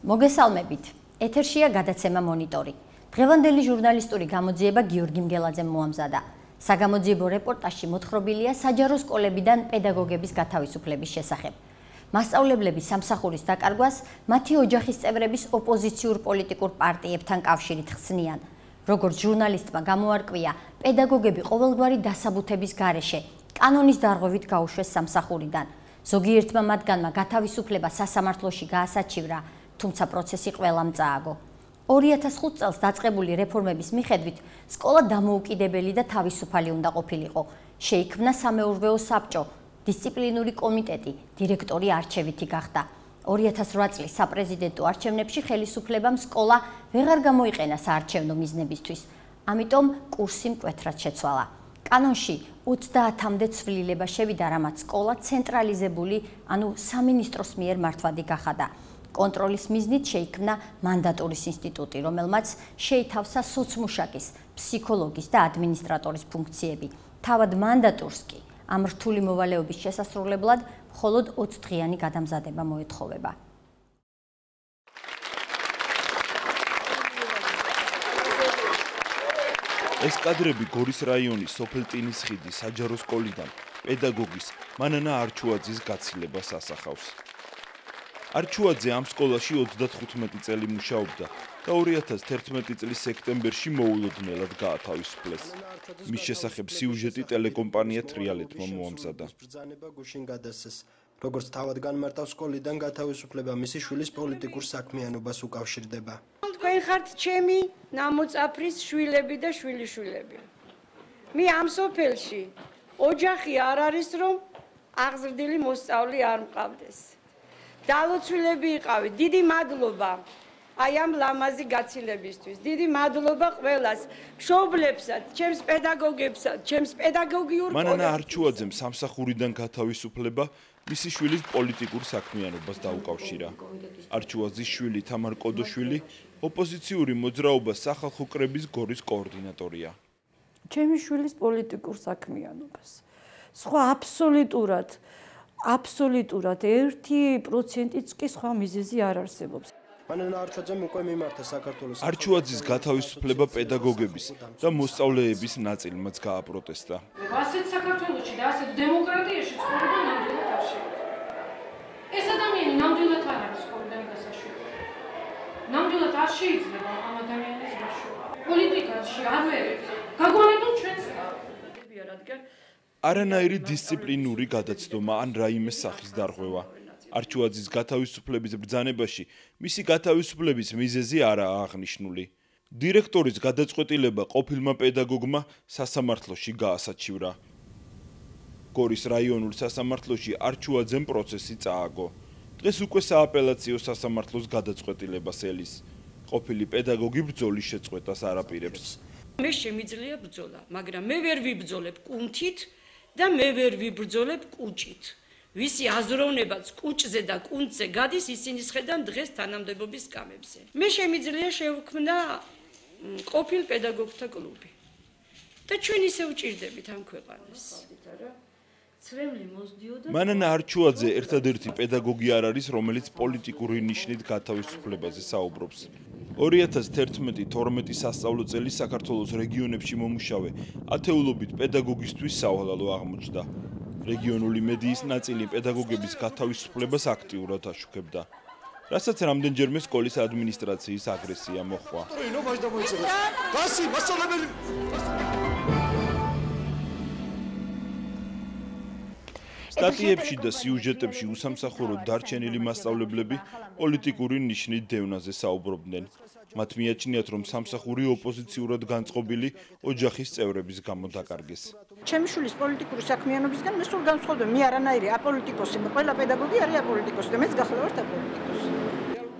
მოგესალმებით. ეთერშია გადაცემა მონიტორი. დღევანდელი ჟურნალისტური გამოძიება გიორგი მგელაძემ მოამზადა. საგამოძიებო რეპორტაჟში მოთხრობილია საჯარო სკოლებიდან პედაგოგების გათავისუფლების შესახებ. მასწავლებლების სამსახურის დაკარგვას მათი ოჯახის წევრების ოპოზიციურ პოლიტიკურ პარტიებთან კავშირით ხსნიან. როგორც ჟურნალისტმა გამოარკვია, პედაგოგები ყოველგვარი დასაბუთების გარეშე კანონის დარღვევით გაუშვეს სამსახურიდან. ზოგიერთმა მათგანმა გათავისუფლება სასამართლოში გაასაჩივრა, თუმცა პროცესი ყველამ წააგო. 2005 წელს დაწყებული რეფორმების მიხედვით სკოლა დამოუკიდებელი და თავისუფალი უნდა ყოფილიყო. შეიქმნა სამეურვეო საბჭო, დისციპლინური კომიტეტი, დირექტორი არჩევითი გახდა. 2008 წლის საპრეზიდენტო არჩევნებში ხელისუფლებამ სკოლა ვეღარ გამოიყენა საარჩევნო მიზნებისთვის, ამიტომ კურსი მკვეთრად შეცვალა. კანონში 30-მდე ცვლილება შევიდა, რამაც სკოლა ცენტრალიზებული, ანუ სამინისტროს მიერ მართვადი გახადა. კონტროლის მიზნით შეიქმნა მანდატურის ინსტიტუტი, რომელმაც შეითავსა სოცმუშაკის, ფსიქოლოგის და ადმინისტრატორის ფუნქციები. თავად მანდატურს კი ამ რთული მოვალეობის შესასრულებლად მხოლოდ 20 დღიანი გადამზადება მოეთხოვება. ეს კადრები გორის რაიონის სოფელ ტინის ხიდის საჯარო სკოლიდან პედაგოგის მანანა არჩუაძის გაცილებას ასახავს. არჩუაძე ამ სკოლაში 35 წელი მუშაობდა და 2011 წლის სექტემბერში მოულოდნელად გაათავისუფლეს. მის შესახებ სიუჟეტი ტელეკომპანია თრიალეთმა მოამზადა. როგორც თავად განმარტავს, სკოლიდან გათავისუფლება მისი შვილის პოლიტიკურ საქმიანობას უკავშირდება. თქვენ ხართ ჩემი ნამოწაფრის შვილები და შვილიშვილები. მე ამ სოფელში ოჯახი არ არის, რომ აღზრდილი მოსწავლე არ მყავდეს. დალოცვილები იყავით. დიდი მადლობა აი ამ ლამაზი გაცილებისთვის. დიდი მადლობა ყველას, მშობლებსაც, ჩემს პედაგოგებსაც, ჩემს პედაგოგიურ მანანა არჩუაძემ სამსახურიდან გათავისუფლება მისი შვილის პოლიტიკურ საქმიანობას დაუკავშირა. არჩუაძის შვილი თამარ კოდოშვილი ოპოზიციური მოძრაობის სახალხო კრების გორის კოორდინატორია. ჩემი შვილის პოლიტიკურ საქმიანობას. სხვა აბსოლუტურად 1%-იც კი სხვა მიზეზი არ არსებობს. მანანა არჩუაძემ უკვე მიმართა საქართველოს. არჩუაძის გათავისუფლება პედაგოგების და მოსწავლეების ნაწილმაც გააპროტესტა. ასეთ საქართველოში და ასეთ დემოკრატიაში ცხოვრება ნამდვილად არ შეიძლება. ეს ადამიანი ნამდვილად არ არის სკოლიდან გასაშვები. ნამდვილად არ შეიძლება ამ ადამიანის გაშუქება. პოლიტიკაში არ ვერეთ. გაგვანებულ ჩვენს რადგან არანაირი დისციპლინური გადაცდომა ან რაიმე სახის დარღვევა. არჩუაძის გათავისუფლების ბრძანებაში მისი გათავისუფლების მიზეზი არაა აღნიშნული. დირექტორის გადაწყვეტილება ყოფილმა პედაგოგმა სასამართლოში გაასაჩივრა. გორის რაიონულ სასამართლოში არჩუაძემ პროცესი წააგო. დღეს უკვე სააპელაციო სასამართლოს გადაწყვეტილებას ელის. ყოფილი პედაგოგი ბრძოლის შეწყვეტას არაპირებს. მე შემიძლია ბრძოლა, მაგრამ მე ვერ ვიბრძოლებ კუნთით და მე ვერ ვიბრძოლებ კუჭით. ვისი აზროვნებაც კუჭზე და კუნთზე გადის, ისინი შედან დღეს თანამდებობის სკამებზე. მე შემიძლია შევქმნა ყოფილ პედაგოგთა კლუბი. და ჩვენ ისე ვჭირდებით ამ ქვეყანას. მანანა არჩუაძე ერთადერთი პედაგოგი არ არის, რომელიც პოლიტიკური ნიშნით გათავისუფლებაზე საუბრობს. 2011-12 სასწავლო წელი საქართველოს რეგიონებში მომუშავე ათეულობით პედაგოგისთვის სავალალო აღმოჩნდა. რეგიონული მედიის ნაწილი პედაგოგების გათავისუფლებას აქტიურად აშუქებდა, რასაც რამდენჯერმე სკოლის ადმინისტრაციის აგრესია მოჰყვა. სტატიებში და სიუჟეტებში უსამსახუროდ დარჩენილი მასწავლებლები პოლიტიკური ნიშნით დევნაზე საუბრობდნენ. მათ მიაჩნიათ, რომ სამსახური ოპოზიციურად განწყობილი ოჯახის წევრების გამო დაკარგეს. ჩემი შვილის პოლიტიკური საქმიანობისგან მე სულ განსხვავდება. მე არანაირი აპოლიტიკოსი, ყველა პედაგოგი არის აპოლიტიკოსი და მეც გახლავართ აპოლიტიკოსი.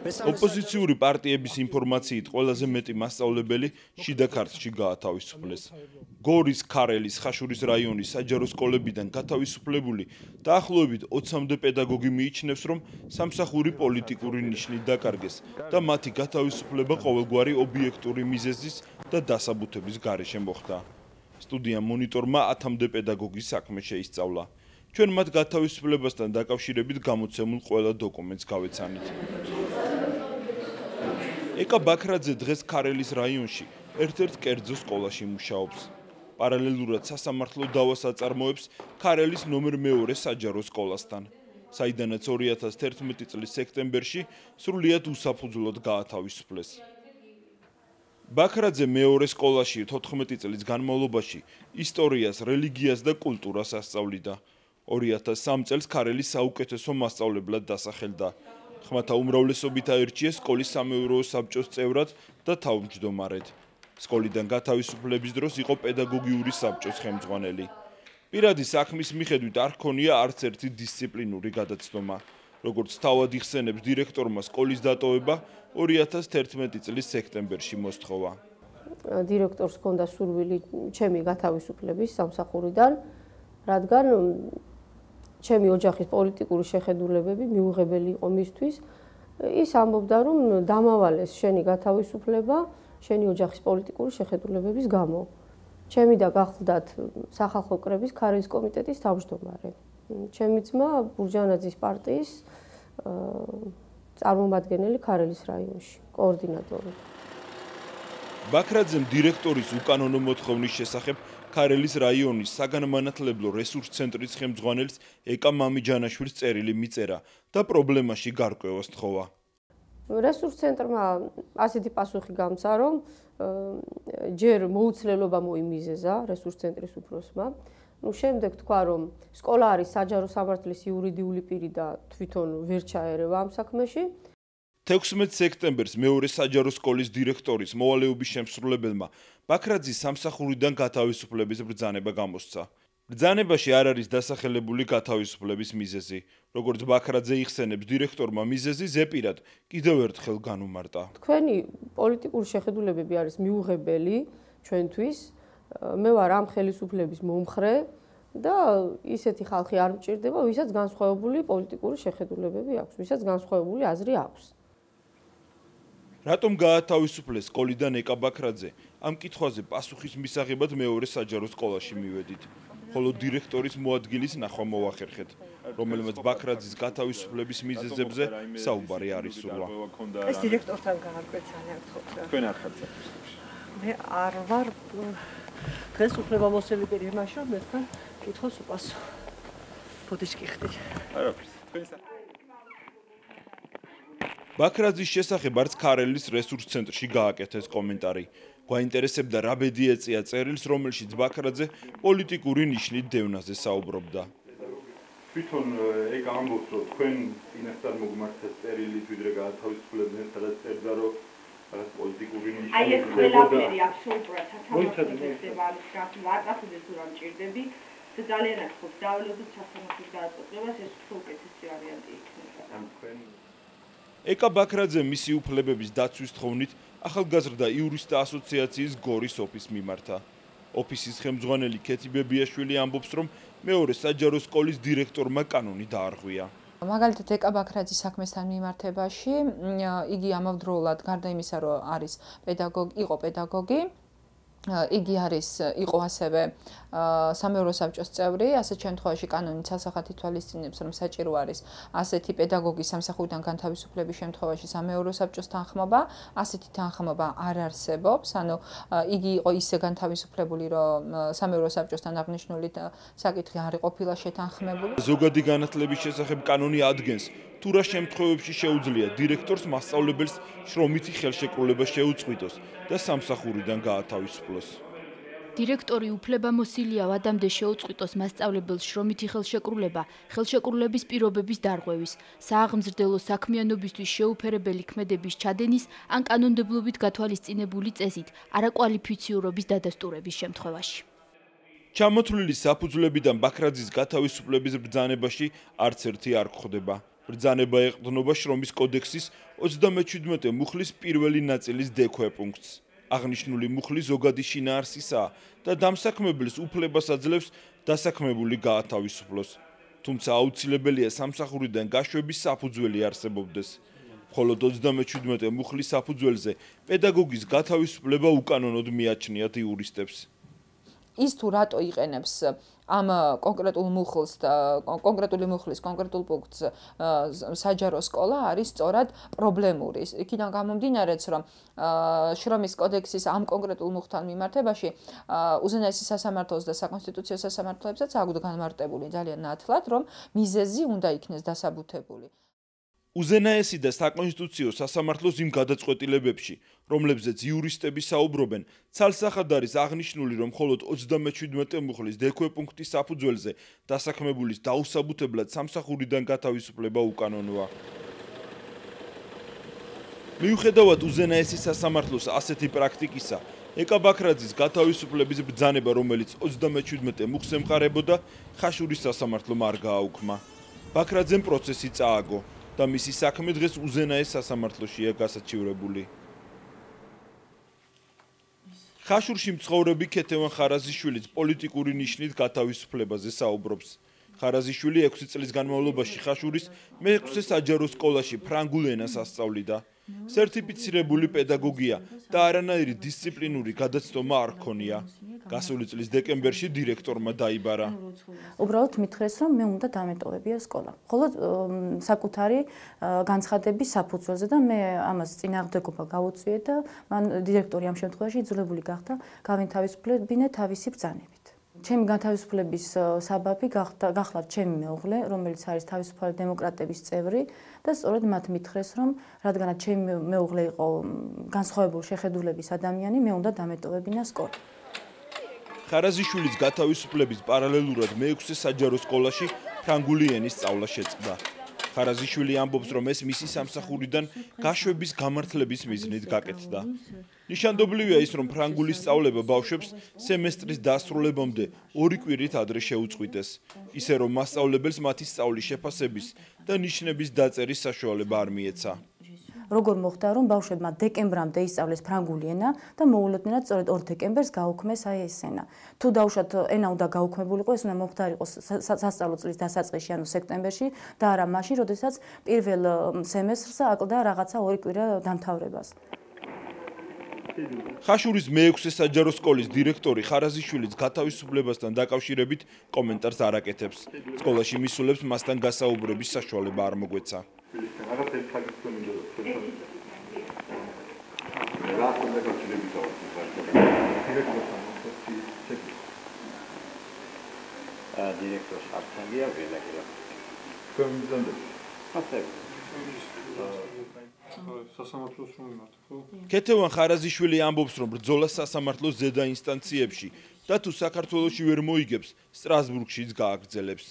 ოპოზიციური პარტიების ინფორმაციით ყველაზე მეტი მასწავლებელი შიდა ქართლში გაათავისუფლეს. გორის, ქარელის, ხაშურის რაიონის საჯარო სკოლებიდან გათავისუფლებული დაახლოებით 20-მდე პედაგოგი მიიჩნევს, რომ სამსახური პოლიტიკური ნიშნით დაკარგეს და მათი გათავისუფლება ყოველგვარი ობიექტური მიზეზის და დასაბუთების გარეშე მოხდა. სტუდია მონიტორმა 10-მდე პედაგოგის საქმე შეისწავლა. ჩვენ მათ გათავისუფლებასთან დაკავშირებით გამოცემულ ყველა დოკუმენტს გავეცანით. ეკა ბაქრაძე დღეს ქარელის რაიონში ერთ-ერთ კერძო სკოლაში მუშაობს. პარალელურად სასამართლო დავას აწარმოებს ქარელის ნომერ 2 საჯარო სკოლასთან, საიდანაც 2011 წლის სექტემბერში სრულიად უსაფუძვლოდ გაათავისუფლეს. ბაქრაძე მეორე სკოლაში 14 წლის განმავლობაში ისტორიას, რელიგიას და კულტურას ასწავლიდა. 2003 წელს ქარელის საუკეთესო მასწავლებლად დასახელდა. ხმათა უმრავლესობით აირჩიეს სკოლის სამეურვეო საბჭოს წევრად და თავმჯდომარედ. სკოლიდან გათავისუფლების დროს იყო პედაგოგიური საბჭოს ხელმძღვანელი. პირადი საქმის მიხედვით არ ჰქონია არც ერთი დისციპლინური გადაცდომა. როგორც თავად იხსენებს დირექტორმა სკოლის დატოვება 2011 წლის სექტემბერში მოსთხოვა. დირექტორს ჰქონდა სურვილი ჩემი გათავისუფლების სამსახურიდან, რადგან ჩემი ოჯახის პოლიტიკური შეხედულებები მიუღებელი იყო მისთვის. ის ამბობდა, რომ დამავალეს შენი გათავისუფლება შენი ოჯახის პოლიტიკური შეხედულებების გამო. ჩემი და გახლდათ სახალხო კრების ქარელის კომიტეტის თავმჯდომარე. ჩემი ძმა ბურჯანაძის პარტიის წარმომადგენელი ქარელის რაიონში, კოორდინატორი. ბაქრაძემ დირექტორის უკანონო მოთხოვნის შესახებ ქარელის რაიონის საგანმანათლებლო რესურს ცენტრის ხელმძღვანელს ეკა მამიჯანაშვილს წერილი მიწერა და პრობლემაში გარკვევას თხოვა. რესურს ცენტრმა ასეთი პასუხი გამცა, რომ ჯერ მოუცლელობა მოიმიზეზა რესურს ცენტრის უფროსმა. შემდეგ თქვა, რომ სკოლა არის საჯარო სამართლის იურიდიული პირი და თვითონ ვერ ჩაერევა ამ საქმეში. 16 სექტემბერს მეორე საჯარო სკოლის დირექტორის მოვალეობის შემსრულებელმა ბაქრაძის სამსახურიდან გათავისუფლების ბრძანება გამოსცა. ბრძანებაში არ არის დასახელებული გათავისუფლების მიზეზი. როგორც ბაქრაძე იხსენებს, დირექტორმა მიზეზი ზეპირად კიდევ ერთხელ განუმარტა. თქვენი პოლიტიკური შეხედულებები არის მიუღებელი ჩვენთვის. მე ვარ ამ ხელისუფლების მომხრე და ისეთი ხალხი არ მჭირდება, ვისაც განსხვავებული პოლიტიკური შეხედულებები აქვს, ვისაც განსხვავებული აზრი აქვს. რატომ გაათავისუფლეს სკოლიდან ეკა ბაქრაძე? ამ კითხვაზე პასუხის მისაღებად მეორე საჯარო სკოლაში მივედით. ხოლო დირექტორის მოადგილის ნახვა მოვახერხეთ, რომელმაც ბაქრაძის გათავისუფლების მიზეზებზე საუბარი არ ისურვა. ეს დირექტორთან გაარკვეცანა გთხოვთ რა. თქვენ არ ხართ საქმეში. მე არ ვარ დღეს უფლებამოსილი პირი იმაში, რომ მე თქვენ კითხავს უპასო. ბოდიში გიხდით. არაფერს. თქვენ ბაქრაძის შესახებ არც ქარელის რესურს ცენტრში გააკეთეს კომენტარი. გვაინტერესებდა რა ბედი ეწია წერილს, რომელშიც ბაქრაძე პოლიტიკური ნიშნით დევნაზე საუბრობდა. თვითონ ეგ ამბობს, რომ თქვენ წინასწარ მოგმართეთ წერილით, ვიდრე გაათავისუფლებდნენ, სადაც წერდა, რომ რაღაც პოლიტიკური ნიშნით. აი ეს ყველაფერი აბსოლუტურად სათამაშოა, ვარწახუდეს თუ რა მჭირდები და ძალიანაც ხობს დავალოდოთ სასამართლოს გადაწყვეტილებას, ეს უკეთესი ვარიანტი იქნება. ეკა ბაქრაძე მისი უფლებების დაცვის თხოვნით ახალგაზრდა იურისტთა ასოციაციის გორის ოფისს მიმართა. ოფისის ხელმძღვანელი ქეთი ბებიაშვილი ამბობს, რომ მეორე საჯარო სკოლის დირექტორმა კანონი დაარღვია. მაგალითად ეკა ბაქრაძის საქმესთან მიმართებაში იგი ამავდროულად გარდა იმისა, რომ არის იყო პედაგოგი, იგი იყო ასევე სამეურვეო საბჭოს წევრი, ასეთ შემთხვევაში კანონით სასახად ითვალისწინებს, რომ საჭირო არის ასეთი პედაგოგის სამსახურიდან განთავისუფლების შემთხვევაში სამეურვეო საბჭოს თანხმობა, ასეთი თანხმობა არ არსებობს, ანუ იგი იყო ისე განთავისუფლებული, რომ სამეურვეო საბჭოსთან აღნიშნული საკითხი არ ყოფილა შეთანხმებული. ზოგადი განათლების შესახებ კანონი ადგენს, თუ რა შემთხვევებში შეუძლია დირექტორს მასწავლებელს შრომითი ხელშეკრულება შეუწყვიტოს და სამსახურიდან გაათავისუფლოს. დირექტორი უფლებამოსილია ვადამდე შეუწყვიტოს მასწავლებელს შრომითი ხელშეკრულება, ხელშეკრულების პირობების დარღვევის, სააღმზრდელო საქმიანობისთვის შეუფერებელი ქმედების ჩადენის ან კანონმდებლობით გათვალისწინებული წესით, არაკვალიფიციურობის დადასტურების შემთხვევაში. ჩამოთვლილი საფუძვლებიდან ბაქრაძის გათავისუფლების ბრძანებაში არც ერთი არ გვხვდება. ბრძანება ეყრდნობა შრომის კოდექსის 37 მუხლის პირველი ნაწილის დ-ქვე პუნქტს. აღნიშნული მუხლი ზოგადი შინაარსისაა და დამსაქმებელს უფლებას აძლევს დასაქმებული გაათავისუფლოს. თუმცა აუცილებელია სამსახურიდან გაშვების საფუძველი არსებობდეს. მხოლოდ 37 მუხლის საფუძველზე პედაგოგის გათავისუფლება უკანონოდ მიაჩნიათ იურისტებს. ის თუ რატო იყენებს ამ კონკრეტული მუხლის კონკრეტულ პუნქტს საჯარო სკოლა არის სწორად პრობლემური. იქიდან გამომდინარეც, რომ შრომის კოდექსის ამ კონკრეტულ მუხთან მიმართებაში უზენაესი სასამართლოს და საკონსტიტუციო სასამართლოებსაც აქვთ განმარტებული ძალიან ნათლად, რომ მიზეზი უნდა იქნეს დასაბუთებული. უზენაესი და საკონსტიტუციო სასამართლოს იმ გადაწყვეტილებებში, რომლებზეც იურისტები საუბრობენ, ცალსახად არის აღნიშნული, რომ მხოლოდ 37 მუხლის დექვე პუნქტის საფუძველზე დასაქმებულის დაუსაბუთებლად სამსახურიდან გათავისუფლება უკანონოა. მიუხედავად უზენაესი სასამართლოს ასეთი პრაქტიკისა, ეკა ბაქრაძის გათავისუფლების ბრძანება, რომელიც 37 მუხს ემყარებოდა, ხაშურის სასამართლომ არ გააუქმა. ბაქრაძემ პროცესი წააგო და მისი საქმე დღეს უზენაეს სასამართლოშია გასაჩივრებული. ხაშურში მცხოვრები ქეთევან ხარაზიშვილიც პოლიტიკური ნიშნით გათავისუფლებაზე საუბრობს. ხარაზიშვილი 6 წლის განმავლობაში ხაშურის მე-6 საჯარო სკოლაში ფრანგულ ენას ასწავლიდა. სერტიფიცირებული პედაგოგია და არანაირი დისციპლინური გადაცდომა არ ჰქონია. გასული წლის დეკემბერში დირექტორმა დაიბარა. უბრალოდ მითხრეს, რომ მე უნდა დამეტოვებია სკოლა. მხოლოდ საკუთარი განცხადების საფუძველზე და მე ამას წინააღმდეგობა გავუწიე და მან დირექტორი ამ შემთხვევაში იძულებული გახდა გავინთავისუფლებინე თავისი ბრძანებით. ჩემი განთავისუფლების საბაბი გახლავთ ჩემი მეუღლე, რომელიც არის თავისუფალი დემოკრატების წევრი და სწორედ მათ მითხრეს, რომ რადგანაც ჩემი მეუღლე იყო განსხვავებული შეხედულების ადამიანი, მე უნდა დამეტოვებინა სკოლა. ხარაზიშვილის გათავისუფლების პარალელურად მე-6 საჯარო სკოლაში ფრანგული ენის სწავლა შეწყდა. ხარაზიშვილი ამბობს, რომ ეს მისი სამსახურიდან გაშვების გამართლების მიზნით გაკეთდა. ნიშანდობლივია ის, რომ ფრანგულის სწავლება ბავშვებს სემესტრის დასრულებამდე 2 კვირით ადრე შეუწყვიტეს, ისე რომ მასწავლებელს მათი სწავლის შეფასების და ნიშნების დაწერის საშუალება არ მიეცა. როგორ მოხდა, რომ ბავშვებმა დეკემბრამდე ისწავლეს ფრანგული ენა და მოულოდნელად სწორედ 2 დეკემბერს გაუქმეს აი ეს ენა. თუ დაუშვათ ენა უნდა გაუქმებულიყო, ეს უნდა მომხდარიყო სასწავლო წლის დასაწყისში, ანუ სექტემბერში და არა მაშინ, როდესაც პირველ სემესტრს აკლდა რაღაცა 2 კვირა დამთავრებას. ხაშურის მე-6 საჯარო სკოლის დირექტორი ხარაზიშვილის გათავისუფლებასთან დაკავშირებით კომენტარს არ აკეთებს. სკოლაში მისულებს მასთან გასაუბრების საშუალება არ მოგვეცა. დირექტორს არცანია ვინაგელა. სასამართლოს რომ იმართ, ხო? ქეთევან ხარაზიშვილი ამბობს, რომ ბრძოლა სასამართლოს ზედა ინსტანციებში და თუ საქართველოში ვერ მოიგებს, სტრასბურგშიც გააგრძელებს.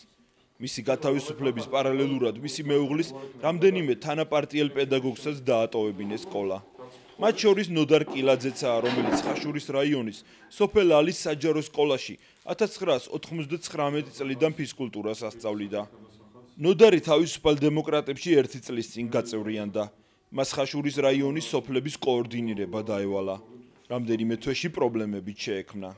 მისი გათავისუფლების პარალელურად მისი მეუღლის რამდენიმე თანაპარტიელ პედაგოგსაც დაატოვებინეს სკოლა. მათ შორის ნოდარ კილაძეცაა, რომელიც ხაშურის რაიონის სოფელ ალის საჯარო სკოლაში 1999 წლიდან ფიზკულტურას ასწავლიდა. ნოდარი თავისუფალ დემოკრატებში 1 წლის წინ გაწევრიანდა. მას ხაშურის რაიონის სოფლების კოორდინირება დაევალა. რამდენიმე თვეში პრობლემებით შეექმნა.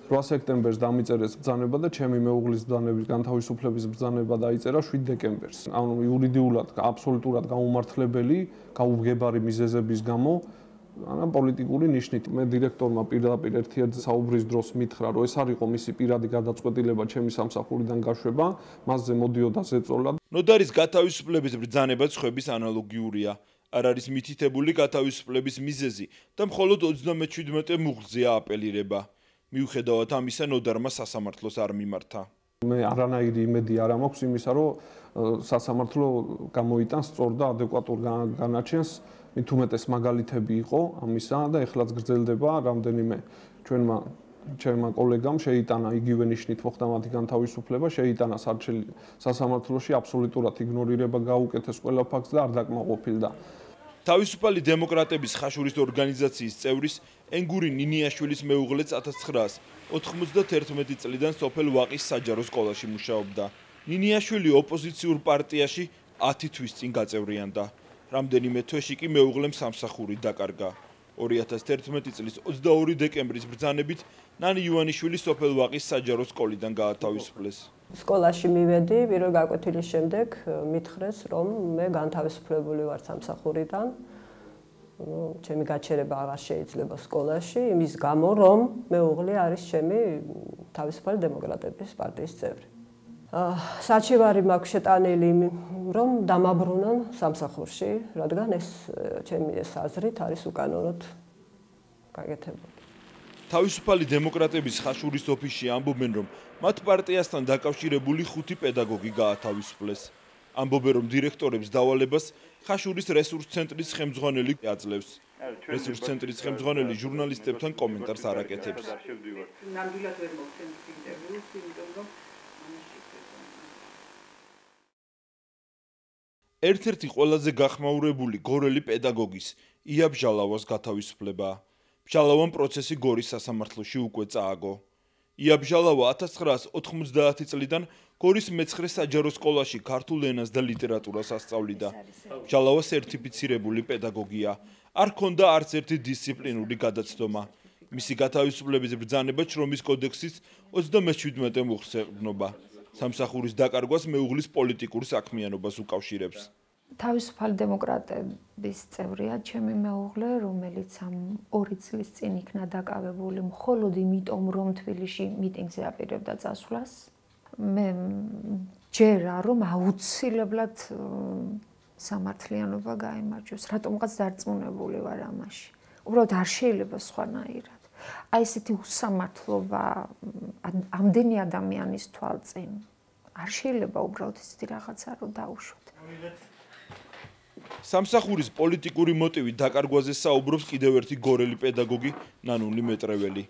8 სექტემბერს დამიწერეს ბრძანება და ჩემი მეუღლის ბრძანების განთავისუფლების ბრძანება დაიწერა 7 დეკემბერს. ანუ იურიდიულად აბსოლუტურად გაუმართლებელი, გაუგებარი მიზეზების გამო, ანუ პოლიტიკური ნიშნით. მე დირექტორმა პირდაპირ ერთ-ერთი საუბრის დროს მითხრა, რომ ეს არ იყო მისი პირადი გადაწყვეტილება ჩემი სამსახურიდან გაშვება, მასზე მოდიოდა ზეწოლა. ნოდარის გათავისუფლების ბრძანება ცხების ანალოგიურია. არ არის მითითებული გათავისუფლების მიზეზი და მხოლოდ 37 მუხლზეა აპელირება. მიუხედავად ამისა, ნოდარმა სასამართლოს არ მიმართა. მე არანაირი იმედი არ მაქვს იმისა, რომ სასამართლო გამოიტანს სწორ და ადეკვატურ განაჩენს. მით უმეტეს მაგალითები იყო ამისა და ეხლაც გრძელდება რამდენიმე ჩვენმა კოლეგამ შეიტანა იგივე ნიშნით მოხდა მათი განთავისუფლება, შეიტანა სასამართლოში აბსოლუტურად იგნორირება გაუკეთეს ყველა ფაქტს და არ დაკმაყოფილდა. თავისუფალი დემოკრატების ხაშურის ორგანიზაციის წევრის ენგური ნინიაშვილის მეუღლეც 1991 წლიდან სოფელ ვაყის საჯარო სკოლაში მუშაობდა. ნინიაშვილი ოპოზიციურ პარტიაში 10 თვის წინ გაწევრიანდა. რამდენიმე თვეში კი მეუღლემ სამსახური დაკარგა. 2011 წლის 22 დეკემბრის ბრძანებით ნანი ივანიშვილი სოფელ ვაყის საჯარო სკოლიდან გაათავისუფლეს. სკოლაში მივედი, პირველ გაკვეთილის შემდეგ მითხრეს, რომ მე განთავისუფლებული ვარ სამსახურიდან. ჩემი გაჩერება აღარ შეიძლება სკოლაში, იმის გამო, რომ მეუღლე არის ჩემი თავისუფალი დემოკრატების პარტიის წევრი. საჩივარი მაქვს შეტანილი, რომ დამაბრუნონ სამსახურში, რადგან ეს ჩემი აზრით არის უკანონოდ გაკეთებული. თავისუფალი დემოკრატების ხაშურის ოფისში ამბობენ, რომ მათ პარტიასთან დაკავშირებული 5 პედაგოგი გაათავისუფლეს. ამბობენ, რომ დირექტორებს დავალებას ხაშურის რესურს ცენტრის ხელმძღვანელი აძლევს. რესურს ცენტრის ხელმძღვანელი ჟურნალისტებთან კომენტარს არ აკეთებს. ნამდვილად ვერ მოგცემთ ინტერვიუს, იმიტომ რომ ერთ-ერთი ყველაზე გახმაურებული გორელი პედაგოგის ია ბჟალავას გათავისუფლება. ბჟალავამ პროცესი გორის სასამართლოში უკვე წააგო. ია ბჟალავა 1990 წლიდან გორის მე-9 საჯარო სკოლაში ქართულ ენას და ლიტერატურას ასწავლიდა. ბჟალავა სერტიფიცირებული პედაგოგია. არ ჰქონდა არც ერთი დისციპლინური გადაცდომა. მისი გათავისუფლების ბრძანება შრომის კოდექსის 37 მუხლს ეყრდნობა. სამსახურის დაკარგვას მეუღლის პოლიტიკურ საქმიანობას უკავშირებს. თავისუფალი დემოკრატების წევრია ჩემი მეუღლე, რომელიც ამ 2 წლის წინ იქნა დაკავებული მხოლოდ იმიტომ, რომ თბილისში მიტინგზე აპირებდა წასვლას. მე ჯერა რომ აუცილებლად სამართლიანობა გაიმარჯვოს, რატომღაც დარწმუნებული ვარ ამაში. უბრალოდ არ შეიძლება სხვანაირად. აი ესეთი უსამართლობა ამდენი ადამიანის თვალწინ არ შეიძლება უბრალოდ ესეთი რაღაცა რომ დაუშვოთ. სამსახურის პოლიტიკური მოტივი დაკარგვაზე საუბრობს კიდევ ერთი გორელი პედაგოგი ნანული მეტრეველი.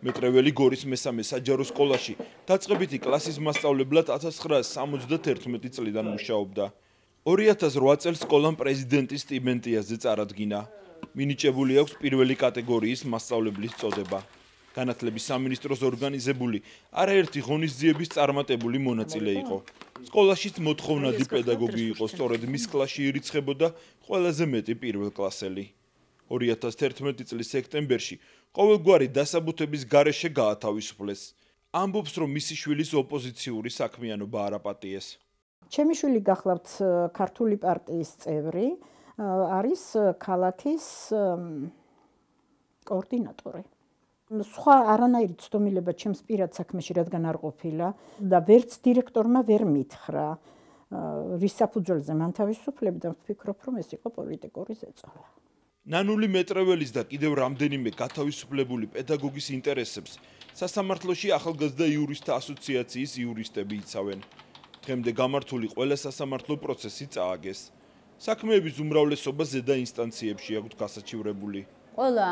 მეტრეველი გორის მე-3 საჯარო სკოლაში დაწყებითი კლასის მასწავლებლად 1971 წლიდან მუშაობდა. 2008 წელს სკოლამ პრეზიდენტის სტიპენდიაზე წარადგინა. მინიჭებული აქვს პირველი კატეგორიის მასწავლებლის წოდება. განათლების სამინისტროს ორგანიზებული არაერთი ღონისძიების წარმატებული მონაწილე იყო. სკოლაშიც მოთხოვნადი პედაგოგი იყო, სწორედ მის კლასში ირიცხებოდა ყველაზე მეტი პირველკლასელი. 2011 წლის სექტემბერში ყოველგვარი დასაბუთების გარეშე გაათავისუფლეს. ამბობს, რომ მისი შვილის ოპოზიციური საქმიანობა არ აპატიეს. ჩემი შვილი გახლავთ ქართული პარტიის წევრი, არის ქალაქის კოორდინატორი. სხვა არანაირი ცდომილება ჩემს პირად საქმეში რადგან არ ყოფილა და ვერც დირექტორმა ვერ მითხრა რის საფუძველზე მან თავისუფლები და ვფიქრობ, რომ ეს იყო პოლიტიკური ზეწოლა. ნანული მეტრეველის და კიდევ რამდენიმე გათავისუფლებული პედაგოგის ინტერესებს სასამართლოში ახალგაზრდა იურისტთა ასოციაციის იურისტები იცავენ. დღემდე გამართული ყველა სასამართლო პროცესი წააგეს. საქმეების უმრავლესობა ზედა ინსტანციებში აქვს გასაჩივრებული. ყველა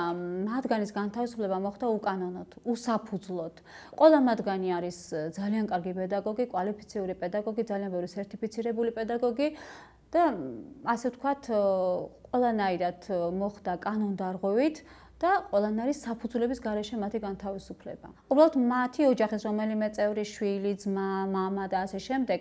მათგანის განთავისუფლება მოხდა უკანონოდ, უსაფუძვლოდ. ყველა მათგანი არის ძალიან კარგი პედაგოგი, კვალიფიციური პედაგოგი, ძალიან ბევრი სერტიფიცირებული პედაგოგი და ასე ვთქვათ, ყველანაირად მოხდა კანონდარღვევით და ყველანაირი საფუძვლების გარეშე მათი განთავისუფლება. უბრალოდ მათი ოჯახის რომელიმე წევრი, შვილი, ძმა, მამა და ასე შემდეგ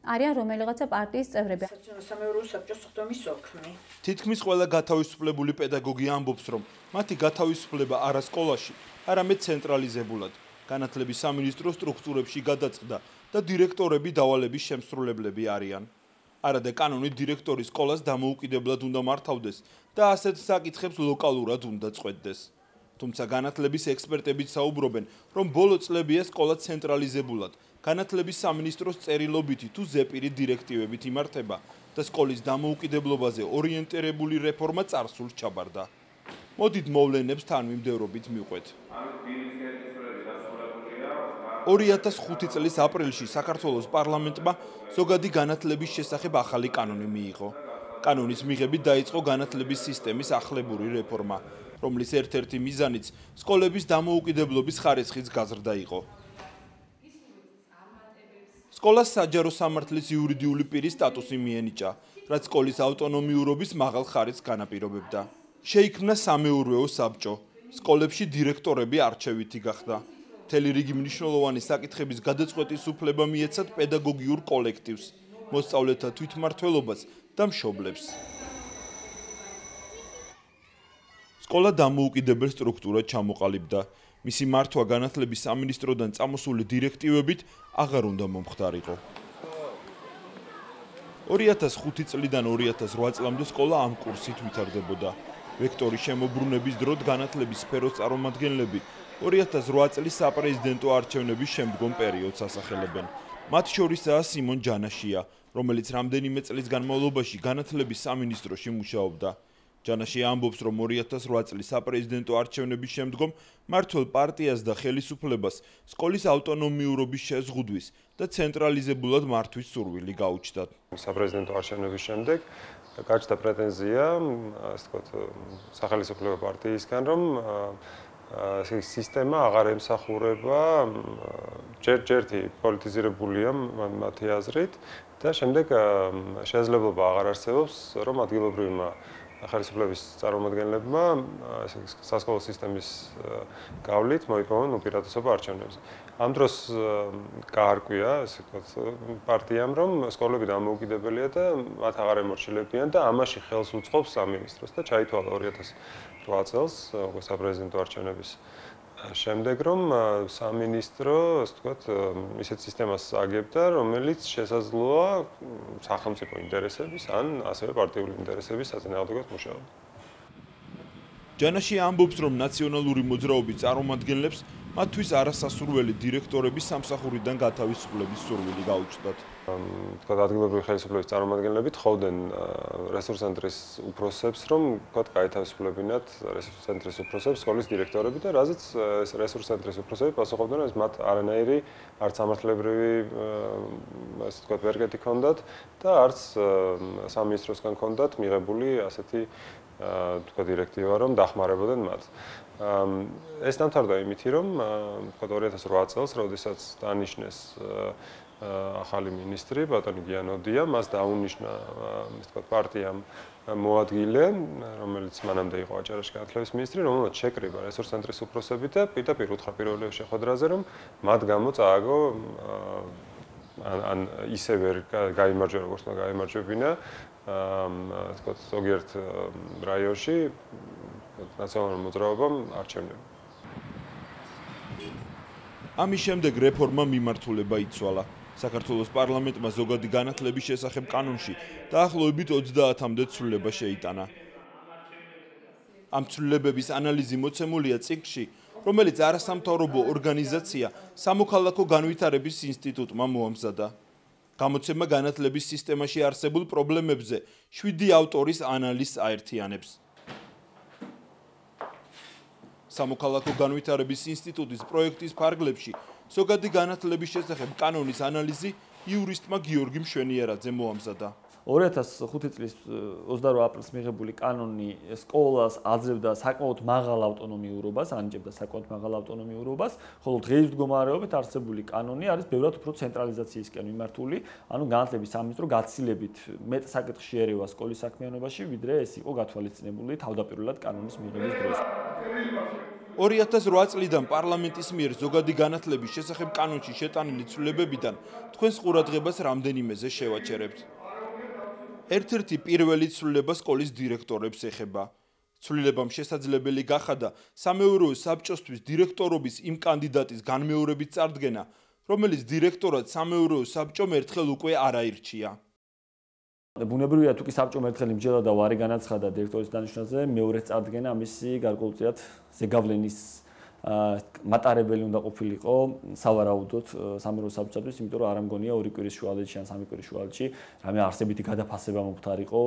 არიან რომელიღაცა პარტიის წევრები. სამეურვეო საბჭოს სხდომის ოქმი. თითქმის ყველა გათავისუფლებული პედაგოგი ამბობს, რომ მათი გათავისუფლება არა სკოლაში, არამედ ცენტრალიზებულად, განათლების სამინისტროს სტრუქტურებში გადაწყდა და დირექტორები დავალების შემსრულებლები არიან. არადა კანონით დირექტორი სკოლას დამოუკიდებლად უნდა მართავდეს და ასეთ საკითხებს ლოკალურად უნდა წყვეტდეს. თუმცა განათლების ექსპერტებიც საუბრობენ, რომ ბოლო წლებია სკოლა ცენტრალიზებულად განათლების სამინისტროს წერილობითი თუ ზეპირი დირექტივებით იმართება და სკოლის დამოუკიდებლობაზე ორიენტირებული რეფორმა წარსულს ჩაბარდა. მოდით მოვლენებს თანმიმდევრობით მივყვეთ. 2005 წლის აპრილში საქართველოს პარლამენტმა ზოგადი განათლების შესახებ ახალი კანონი მიიღო. კანონის მიღებით დაიწყო განათლების სისტემის ახლებური რეფორმა, რომლის ერთ-ერთი მიზანიც სკოლების დამოუკიდებლობის ხარისხის გაზრდა იყო. სკოლას საჯარო სამართლის იურიდიული პირის სტატუსი მიენიჭა, რაც სკოლის ავტონომიურობის მაღალ ხარისხს განაპირობებდა. შეიქმნა სამეურვეო საბჭო, სკოლებში დირექტორები არჩევითი გახდა. მთელი რიგი მნიშვნელოვანი საკითხების გადაწყვეტის უფლება მიეცათ პედაგოგიურ კოლექტივს, მოსწავლეთა თვითმმართველობას და მშობლებს. სკოლა დამოუკიდებელ სტრუქტურად ჩამოყალიბდა. მისი მართვა განათლების სამინისტროდან წამოსული დირექტივებით აღარ უნდა მომხდარიყო. 2005 წლიდან 2008 წლამდე სკოლა ამ კურსით ვითარდებოდა. ვექტორის შემოbrunების დრო განათლების სფეროს წარმომადგენლები 2008 წლის საპრეზიდენტო არჩევნების შემდგომ პერიოდს ასახელებენ. მათ შორისაა სიმონ ჯანაშია, რომელიც რამდენიმე წლის განმავლობაში განათლების სამინისტროში მუშაობდა. ჯანაშია ამბობს, რომ 2008 წლის საპრეზიდენტო არჩევნების შემდგომ მმართველ პარტიას და ხელისუფლებას სკოლის ავტონომიურობის შეზღუდვის და ცენტრალიზებულად მართვის სურვილი გაუჩნდათ. საპრეზიდენტო არჩევნების შემდეგ გაჩნდა პრეტენზია, ასე ვთქვათ, სახელმწიფო პარტიისგან, რომ სისტემა აღარ ემსახურება ჯერ-ჯერთი პოლიტიზირებულია მათი აზრით და შემდეგ შესაძლებლობა აღარ არსებობს, რომ ადგილობრივმა ხელისუფლების წარმომადგენლებმა სასკოლო სისტემის გავლით მოიპოვონ უპირატესობა არჩევნებზე. ამ დროს გაარკვია, ასე ვთქვათ, პარტიამ, რომ სკოლები დამოუკიდებელია და მათ აღარ ემორჩილებიან და ამაში ხელს უწყობს სამინისტროს და ჩაითვალა 2008 წელს საპრეზიდენტო არჩევნების შემდეგ, რომ სამინისტრო, ასე ვთქვათ, ისეთ სისტემას აგებდა, რომელიც შესაძლოა სახელმწიფო ინტერესების ან ასევე პარტიული ინტერესების საწინააღმდეგოდ მუშაობა. ჯანაშია ამბობს, რომ ნაციონალური მოძრაობის წარმომადგენლებს მათთვის არასასურველი დირექტორების სამსახურიდან გათავისუფლების სურვილი გაუჩნდათ. თქვათ, ადგილობრივი ხელისუფლების წარმომადგენლები თხოვდნენ რესურს ცენტრის უფროსებს, რომ თქვათ, გაეთავისუფლებინათ რესურს ცენტრის უფროსებს სკოლის დირექტორები და რაზეც ეს რესურს ცენტრის უფროსები პასუხობდნენ, რომ მათ არანაირი არც სამართლებრივი, ასე ვთქვათ, ვერგეთი ჰქონდათ და არც სამინისტროსგან ჰქონდათ მიღებული ასეთი თქვათ, დირექტივა, რომ დახმარებოდნენ მათ. ეს დამთავრდა იმითი, რომ თქვათ 2008 წელს, როდესაც დანიშნეს ახალი მინისტრი, ბატონი გიანოდია, მას დაუნიშნა, ასე ვთქვათ, პარტიამ მოადგილე, რომელიც მანამდე იყო აჭარაში განათლების მინისტრი, რომელმაც შეკრიბა რესურს ცენტრის უფროსები და პირდაპირ უთხრა პირველ შეხვედრაზე, რომ მათ გამო წააგო ან ისე ვერ გაიმარჯვა, როგორც უნდა გაიმარჯვებინა, ასე ვთქვათ, ზოგიერთ რაიონში ნაციონალურ მოძრაობამ არჩევნები. ამის შემდეგ რეფორმა მიმართულება იცვალა. საქართველოს პარლამენტმა ზოგადი განათლების შესახებ კანონში დაახლოებით 30-მდე ცვლილება შეიტანა. ამ ცვლილებების ანალიზი მოცემულია წიგნში, რომელიც არასამთავრობო ორგანიზაცია სამოქალაქო განვითარების ინსტიტუტმა მოამზადა. გამოცემა განათლების სისტემაში არსებულ პრობლემებზე 7 ავტორის ანალიზს აერთიანებს. სამოქალაქო განვითარების ინსტიტუტის პროექტის ფარგლებში ზოგადი განათლების შესახებ კანონის ანალიზი იურისტმა გიორგი მშვენიერაძე მოამზადა. 2005 წლის 28 აპრილს მიღებული კანონი სკოლას აძლევდა საკმაოდ მაღალ ავტონომიურობას, ანიჭებდა საკმაოდ მაღალ ავტონომიურობას, ხოლო დღეის მდგომარეობით არსებული კანონი არის ბევრად უფრო ცენტრალიზაციისკენ მიმართული, ანუ განათლების სამინისტრო გაცილებით მეტ საკითხში ერევა სკოლის საქმიანობაში, ვიდრე ეს იყო გათვალისწინებული თავდაპირველად კანონის მიღების დროს. 2008 წლიდან პარლამენტის მიერ ზოგადი განათლების შესახებ კანონში შეტანილი ცვლილებებიდან თქვენს ყურადღებას რამდენიმეზე შევაჩერებთ. ერთ-ერთი პირველი ცვლილება სკოლის დირექტორებს ეხება. ცვლილებამ შესაძლებელი გახადა სამეურვეო საბჭოსთვის დირექტორობის იმ კანდიდატის განმეორებით წარდგენა, რომელიც დირექტორად სამეურვეო საბჭომ ერთხელ უკვე არ აირჩია. ბუნებრივია, თუ კი საბჭომ ერთხელ იმჯერა და ვარი განაცხადა დირექტორის დანიშვნაზე, მეორეს წარდგენა ამისი გარკვეულწილად ზეგავლენის მატარებელი უნდა ყოფილიყო სავარაუდოდ სამეურვეო საბჭოსთვის, იმიტომ რომ არ ამგონია 2 კვირის შუალედში ან 3 კვირის შუალედში რამე არსებითი გადაფასება მომხდარიყო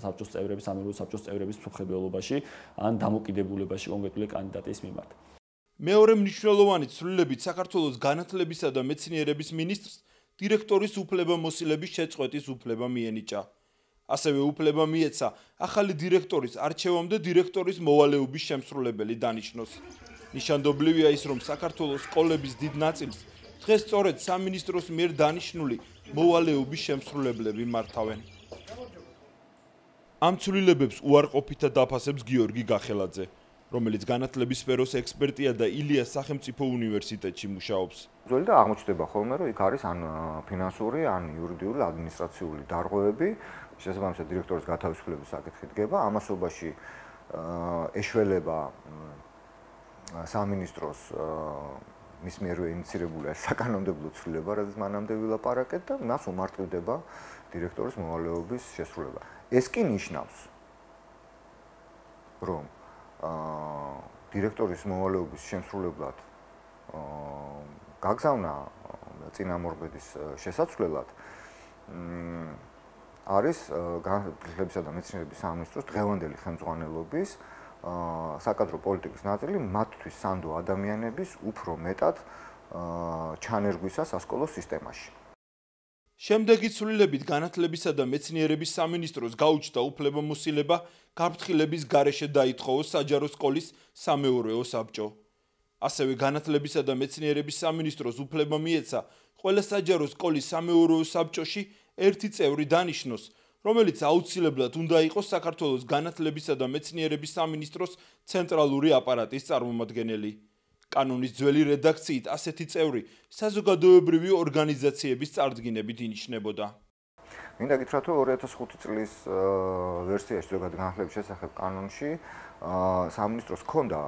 საბჭოს წევრების, სამეურვეო საბჭოს წევრების მსოფლმხედველობაში ან დამოკიდებულებაში კონკრეტული კანდიდატის მიმართ. მეორე მნიშვნელოვანი ცვლილებით საქართველოს განათლებისა და მეცნიერების მინისტრს დირექტორის უფლებამოსილების შეწყვეტის უფლება მიენიჭა. ასევე უფლება მიეცა ახალი დირექტორის არჩევამდე დირექტორის მოვალეობის შემსრულებელი დანიშნოს. ნიშანდობლივია ის, რომ საქართველოს სკოლების დიდ ნაწილს დღეს სწორედ სამინისტროს მიერ დანიშნული მოვალეობის შემსრულებლები მართავენ. ამ ცვლილებებს უარყოფითად დაფასებს გიორგი გახელაძე, რომელიც განათლების სფეროს ექსპერტია და ილიას სახელმწიფო უნივერსიტეტში მუშაობს. ძველი და აღმოჩნდება ხოლმე, რომ იქ არის ან ფინანსური, ან იურიდიული, ადმინისტრაციული დარღვევები, შესაბამისად დირექტორის გათავისუფლების საკითხი დგება, ამასობაში ეშველება სამინისტროს მის მიერვე ინიციირებული საკანონმდებლო ცვლილება, რაც მანამდე ვილაპარაკეთ და მას უმარტივდება დირექტორის მოვალეობის შესრულება. ეს კი ნიშნავს რომ დირექტორის მოვალეობის შემსრულებლად გაგზავნა წინამორბედის შესაცვლელად არის განათლებისა და მეცნიერების სამინისტროს დღევანდელი ხელმძღვანელობის საკადრო პოლიტიკის ნაწილი მათთვის სანდო ადამიანების უფრო მეტად ჩანერგვისა სასკოლო სისტემაში. შემდეგი ცვლილებით განათლებისა და მეცნიერების სამინისტროს გაუჩნდა უფლებამოსილება გაფრთხილების გარეშე დაითხოვოს საჯარო სკოლის სამეურვეო საბჭო. ასევე განათლებისა და მეცნიერების სამინისტროს უფლება მიეცა ყველა საჯარო სკოლის სამეურვეო საბჭოში ერთი წევრი დანიშნოს, რომელიც აუცილებლად უნდა იყოს საქართველოს განათლებისა და მეცნიერების სამინისტროს ცენტრალური აპარატის წარმომადგენელი. კანონის ძველი რედაქციით ასეთი წევრი საზოგადოებრივი ორგანიზაციების წარდგინებით ინიშნებოდა. მინდა გითხრათ, რომ 2005 წლის ვერსიაში ზოგადად განათლების შესახებ კანონში სამინისტროს ჰქონდა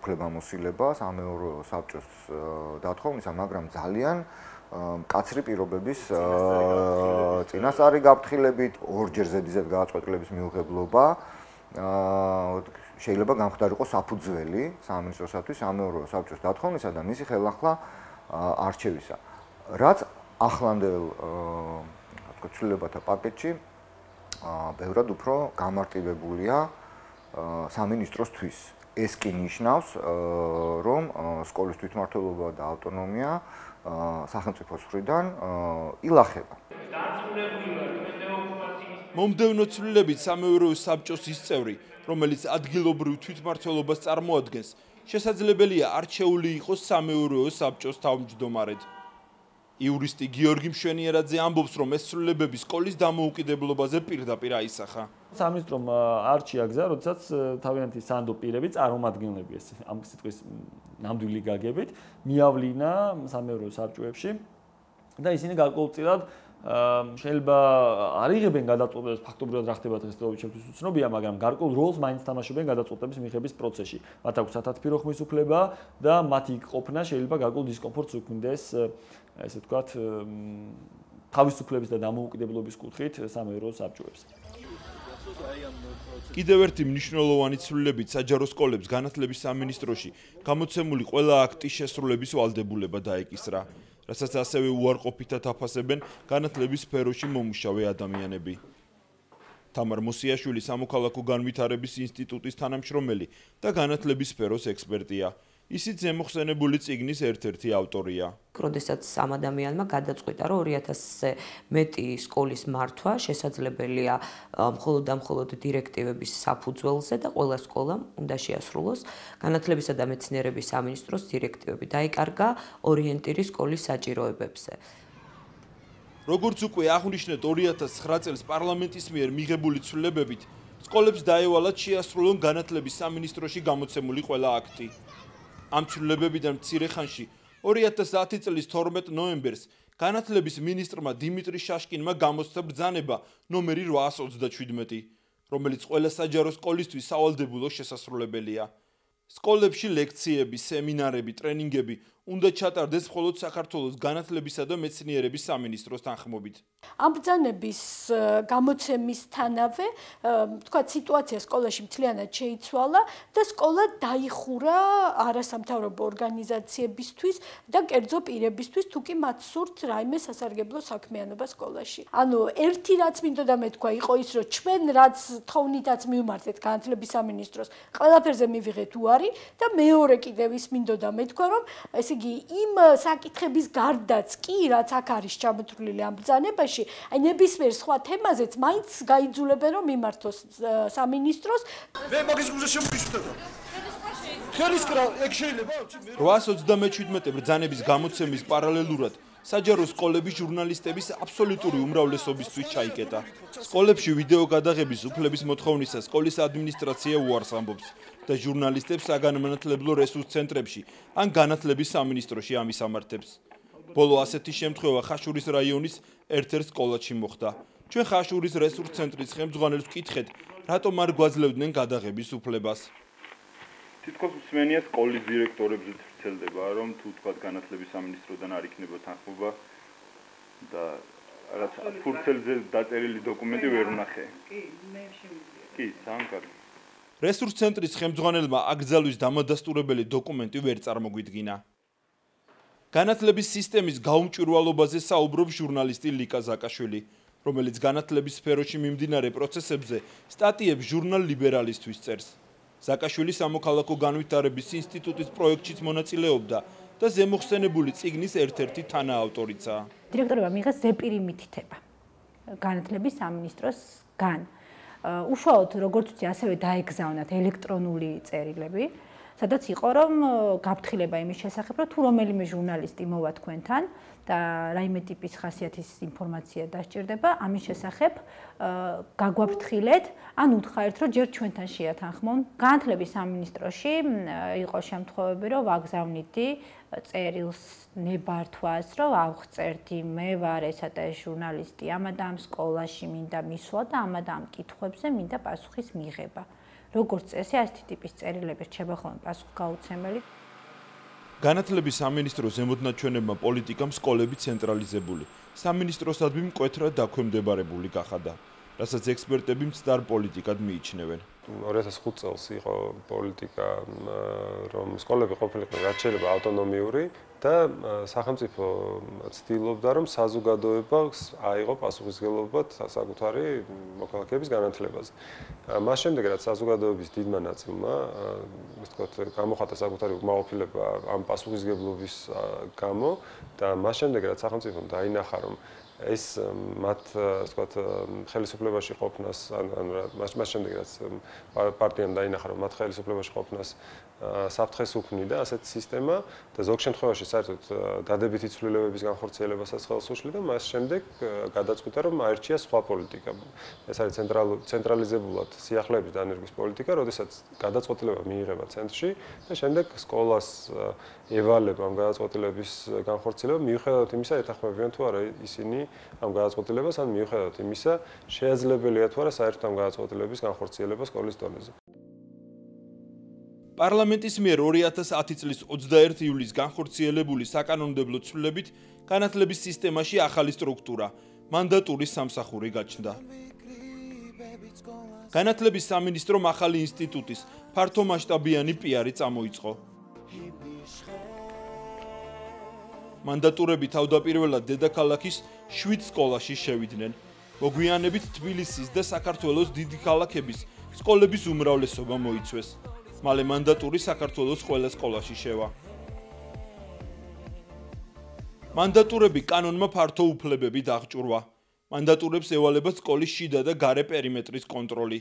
უფლებამოსილება სამეურვეო საბჭოს დათხოვნისა, მაგრამ ძალიან მკაცრი პირობების წინასწარი გაფრთხილებით, ორჯერ ზედიზედ გადაწყვეტილების მიუღებლობა შეიძლება გამხდარიყო საფუძველი სამინისტროსათვის სამეურვეო საბჭოს დათხოვნისა და მისი ხელახლა არჩევისა. რაც ახლანდელ ცვლილებათა პაკეტში ბევრად უფრო გამარტივებულია სამინისტროსთვის. ეს კი ნიშნავს, რომ სკოლის თვითმმართველობა და ავტონომია სახელმწიფოს მხრიდან ილახება. მომდევნო ცვლილებით სამეურვეო საბჭოს ის წევრი, რომელიც ადგილობრივ თვითმმართველობას წარმოადგენს, შესაძლებელია არჩეული იყოს სამეურვეო საბჭოს თავმჯდომარედ. იურისტი გიორგი მშვენიერაძე ამბობს, რომ ეს ცვლილებები სკოლის დამოუკიდებლობაზე პირდაპირ აისახა. სამინისტრომ არჩია გზა, როდესაც თავიანთი სანდო პირები წარმომადგენლები ეს ამ სიტყვის ნამდვილი გაგებით მიავლინა სამეურვეო საბჭოებში და ისინი გარკვეულწილად შეიძლება არ იღებენ გადაწყვეტილებას ფაქტობრივად რა ხდება დღესდღეობით ჩემთვის უცნობია, მაგრამ გარკვეულ როლს მაინც თამაშობენ გადაწყვეტილების მიღების პროცესში. მათ აქვს სათათბირო ხმის უფლება და მათი ყოფნა შეიძლება გარკვეულ დისკომფორტს უქმნდეს, ესე ვთქვათ, თავისუფლების და დამოუკიდებლობის კუთხით სამეურვეო საბჭოებს. კიდევ ერთი მნიშვნელოვანი ცვლილებით საჯარო სკოლებს განათლების სამინისტროში გამოცემული ყველა აქტის შესრულების ვალდებულება დაეკისრა, რასაც ასევე უარყოფითად აფასებენ განათლების სფეროში მომუშავე ადამიანები. თამარ მოსიაშვილი სამოქალაქო განვითარების ინსტიტუტის თანამშრომელი და განათლების სფეროს ექსპერტია. ისიც ზემოხსენებული წიგნის ერთ-ერთი ავტორია. როდესაც ამ ადამიანმა გადაწყვიტა, რომ 2000-ზე მეტი სკოლის მართვა შესაძლებელია მხოლოდ და მხოლოდ დირექტივების საფუძველზე და ყველა სკოლამ უნდა შეასრულოს განათლებისა და მეცნიერების სამინისტროს დირექტივები. დაიკარგა ორიენტირი სკოლის საჭიროებებზე. როგორც უკვე აღვნიშნეთ 2009 წელს პარლამენტის მიერ მიღებული ცვლილებებით, სკოლებს დაევალათ შეასრულონ განათლების სამინისტროში გამოცემული ყველა აქტი. ამ ცვლილებებიდან მცირე ხანში 2010 წლის 12 ნოემბერს განათლების მინისტრმა დიმიტრი შაშკინმა გამოსცა ბრძანება ნომერი 827, რომელიც ყველა საჯარო სკოლისთვის სავალდებულო შესასრულებელია. სკოლებში ლექციები, სემინარები, ტრენინგები უნდა ჩატარდეს მხოლოდ საქართველოს განათლებისა და მეცნიერების სამინისტროს თანხმობით. ამ ბრძანების გამოცემისთანავე, თქვათ, სიტუაცია სკოლაში მთლიანად შეიცვალა და სკოლა დაიხურა არასამთავრობო ორგანიზაციებისთვის და კერძო პირებისთვის, თუ კი მათ სურთ რაიმე სასარგებლო საქმიანობა სკოლაში. ანუ ერთი რაც მინდოდა მეთქვა იყო ის, რომ ჩვენ რაც თხოვნითაც მივმართეთ განათლების სამინისტროს, ყველაფერზე მივიღეთ უარი და მეორე კიდევ ის მინდოდა მეთქვა, რომ ესე იგი იმ საკითხების გარდაც კი რაც აქ არის ჩამოთვლილი ამ ბრძანებაში, აი ნებისმიერ სხვა თემაზეც მაინც გაიძულებენ რომ მიმართოს სამინისტროს. მე მაგის გულზე შემოვიშვება. ხელისკრა ეგ შეიძლება 827 ბრძანების გამოცემის პარალელურად საჯარო სკოლების ჟურნალისტების აბსოლუტური უმრავლესობისთვის ჩაიკეტა. სკოლებში ვიდეო გადაღების უფლების მოთხოვნისას სკოლის ადმინისტრაცია უარს ამბობს და ჟურნალისტებს საგანმანათლებლო რესურს ცენტრებში ან განათლების სამინისტროში ამისამართებს. ბოლო ასეთი შემთხვევა ხაშურის რაიონის ერთ-ერთ სკოლაში მოხდა. ჩვენ ხაშურის რესურს ცენტრის ხელმძღვანელს ვკითხეთ, რატომ არ გვაძლევდნენ გადაღების უფლებას. თითქოს მსმენია სკოლის დირექტორებზე ვრცელდება, რომ თუ თქვა განათლების სამინისტროდან არ იქნება თანხმობა და რაც ფურცელზე დაწერილი დოკუმენტი ვერ ვნახე. კი, მე შემიძლია. კი, ძალიან კარგი. რესურს ცენტრის ხელმძღვანელმა აკრძალვის დამადასტურებელი დოკუმენტი ვერ წარმოგვიდგინა. განათლების სისტემის გაუმჭვირვალობაზე საუბრობს ჟურნალისტი ლიკა ზაკაშვილი, რომელიც განათლების სფეროში მიმდინარე პროცესებზე სტატიებს ჟურნალ ლიბერალისტვის წერს. ზაკაშვილი სამოქალაქო განვითარების ინსტიტუტის პროექტშიც მონაწილეობდა და ზემოხსენებული წიგნის ერთ-ერთი თანაავტორიცაა. დირექტორებმა მიიღეს ზეპირი მითითება განათლების სამინისტროსგან. უშუალოდ როგორც ვთქვი, ასევე დაეგზავნათ ელექტრონული წერილები, სადაც იყო რომ გაფრთხილება იმის შესახებ, რომ თუ რომელიმე ჟურნალისტი მოვა თქვენთან და რაიმე ტიპის ხასიათის ინფორმაცია დასჭირდება, ამის შესახებ გაგვაფრთხილეთ, ან უთხრეთ, რომ ჯერ ჩვენთან შეათანხმონ. განათლების სამინისტროში იყო შემთხვევები, რომ ვაგზავნიდი წერილს ნებართვას, რომ ავღწერდი, მე ვარ ესა და ეს ჟურნალისტი, ამა და ამ სკოლაში მინდა მისვლა და ამა და ამ კითხვებზე მინდა პასუხის მიღება. როგორც წესი, ასეთი ტიპის წერილები რჩება ხოლმე პასუხგაუცემელი. განათლების სამინისტროს ზემოდნაჩვენებმა პოლიტიკამ სკოლები ცენტრალიზებული, სამინისტროსადმი მკვეთრად დაქვემდებარებული გახადა, რასაც ექსპერტები მცდარ პოლიტიკად მიიჩნევენ. 2005 წელს იყო პოლიტიკა, რომ სკოლები ყოფილიყო რაც შეიძლება ავტონომიური და სახელმწიფო ცდილობდა, რომ საზოგადოებას აიღო პასუხისმგებლობა საკუთარი მოქალაქეების განათლებაზე. მას შემდეგ, რაც საზოგადოების დიდმა ნაწილმა, ასე ვთქვათ, გამოხატა საკუთარი უკმაყოფილება ამ პასუხისმგებლობის გამო და მას შემდეგ, რაც სახელმწიფომ დაინახა, რომ ეს მათ ასე ვთქვათ ხელისუფლებაში ყოფნას ან მას შემდეგ რაც პარტიამ დაინახა რომ მათ ხელისუფლებაში ყოფნას საფრთხეს უქმნიდა ასეთი სისტემა და ზოგ შემთხვევაში საერთოდ დადებითი ცვლილებების განხორციელებასაც ხელს უშლიდა მას შემდეგ გადაწყვიტა რომ აირჩია სხვა პოლიტიკა ეს არის ცენტრალიზებულად სიახლეების დანერგვის პოლიტიკა როდესაც გადაწყვეტილება მიიღება ცენტრში და შემდეგ სკოლას ევალება ამ გადაწყვეტილების განხორციელება მიუხედავად იმისა ეთანხმებიან თუ არა ისინი ამ გადაწყვეტილებას ან მიუხედავად იმისა შეეძლებელია თუ არა საერთოდ ამ გადაწყვეტილების განხორციელება სკოლის დონეზე. პარლამენტის მიერ 2010 წლის 21 ივლისს განხორციელებული საკანონმდებლო ცვლილებით განათლების სისტემაში ახალი სტრუქტურა, მანდატურის სამსახური გაჩნდა. განათლების სამინისტრომ ახალი ინსტიტუტის ფართომასშტაბიანი პიარი წამოიწყო. მანდატურები თავდაპირველად დედაქალაქის 7 სკოლაში შევიდნენ. მოგვიანებით თბილისის და საქართველოს დიდი ქალაქების სკოლების უმრავლესობა მოიცვეს. მალე მანდატური საქართველოს ყველა სკოლაში შევა. მანდატურები კანონმა ფართო უფლებები დაღჭურვა. მანდატურებს ევალება სკოლის შიდა და გარე პერიმეტრის კონტროლი,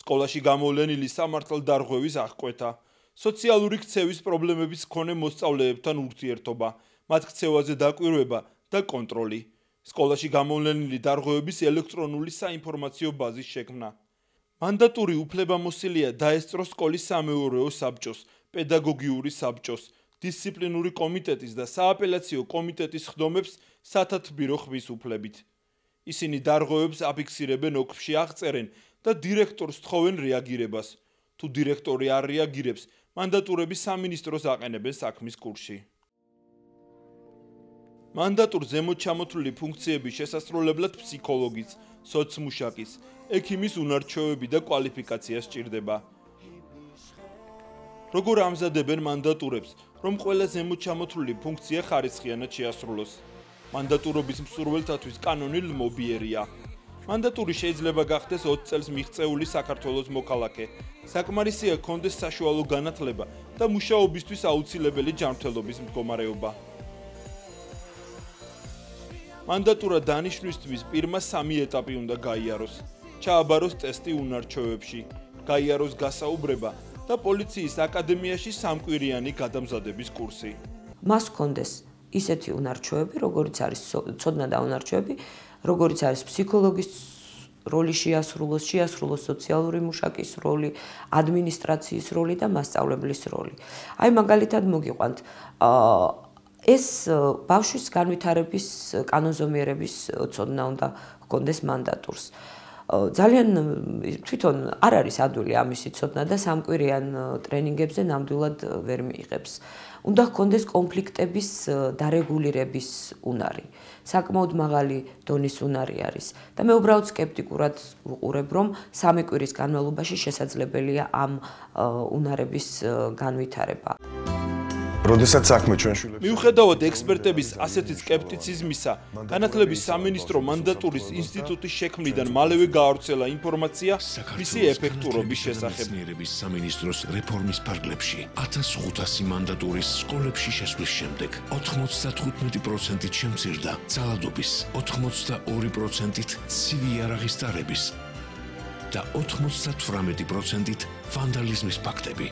სკოლაში გამოვლენილი სამართალდარღვევის აღკვეთა, სოციალური ქცევის პრობლემების მქონე მოსწავლეებთან ურთიერთობა, მათ ქცევაზე დაკვირვება და კონტროლი, სკოლაში გამოვლენილი დარღვევების ელექტრონული საინფორმაციო ბაზის შექმნა. მანდატური უფლებამოსილია დაესწრო სკოლის სამეურვეო საბჭოს, პედაგოგიური საბჭოს, დისციპლინური კომიტეტის და სააპელაციო კომიტეტის ხდომებს სათათბირო ხმის უფლებით. ისინი დარღვევებს აფიქსირებენ ოკრში აღწერენ და დირექტორს თხოვენ რეაგირებას. თუ დირექტორი არ რეაგირებს, მანდატურები სამინისტროს აყენებენ საქმის კურსში. მანდატურ ზემოთ ჩამოთვლილი ფუნქციების შესასრულებლად ფსიქოლოგის, სოცმუშაკის, ექიმის უნარჩვევები და კვალიფიკაცია სჭირდება. როგორ ამზადებენ მანდატურებს, რომ ყველა ზემოთ ჩამოთვლილი ფუნქცია ხარისხიანად შეასრულოს? მანდატურობის მსურველთათვის კანონი ლმობიერია. მანდატური შეიძლება გახდეს 20 წელს მიღწეული საქართველოს მოქალაქე. საკმარისია ჰქონდეს საშუალო განათლება და მუშაობისთვის აუცილებელი ჯანმრთელობის მდგომარეობა. მანდატურა დანიშვნისთვის პირმა 3 ეტაპი უნდა გაიაროს. ჩააბაროს ტესტი უნარჩვევებში, გაიაროს გასაუბრება და პოლიციის აკადემიაში 3კვირიანი გადამზადების კურსი. მას ჰქონდეს ისეთი უნარჩვევები, როგორიც არის ცოდნა და უნარჩვევები, როგორიც არის ფსიქოლოგის როლი შეასრულოს სოციალური მუშაკის როლი, ადმინისტრაციის როლი და მასწავლებლის როლი. აი მაგალითად მოგიყვანთ ეს ბავშვის განვითარების კანონზომიერების ცოდნა უნდა ჰქონდეს მანდატურს. ძალიან თვითონ არ არის ადვილი ამისი ცოდნა და 3კვირიან ტრენინგებზე ნამდვილად ვერ მიიღებს. უნდა ჰქონდეს კონფლიქტების დარეგულირების უნარი. საკმაოდ მაღალი დონის უნარი არის და მე უბრალოდ სკეპტიკურად ვუყურებ, რომ 3 კვირის განმავლობაში შესაძლებელია ამ უნარების განვითარება. როდესაც საქმე ჩვენ შვილებს მიუხედავად ექსპერტების ასეთი სკეპტიციზმისა, განათლების სამინისტრო მანდატურის ინსტიტუტის შექმნიდან მალევე გაავრცელა ინფორმაცია მისი ეფექტურობის შესახებ. მეცნიერების სამინისტროს რეფორმის ფარგლებში 1500 მანდატურის სკოლებში შესვლის შემდეგ 95%-ით შემცირდა ძალადობის, 82%-ით ცივი იარაღის ტარების და 98%-ით ვანდალიზმის ფაქტები.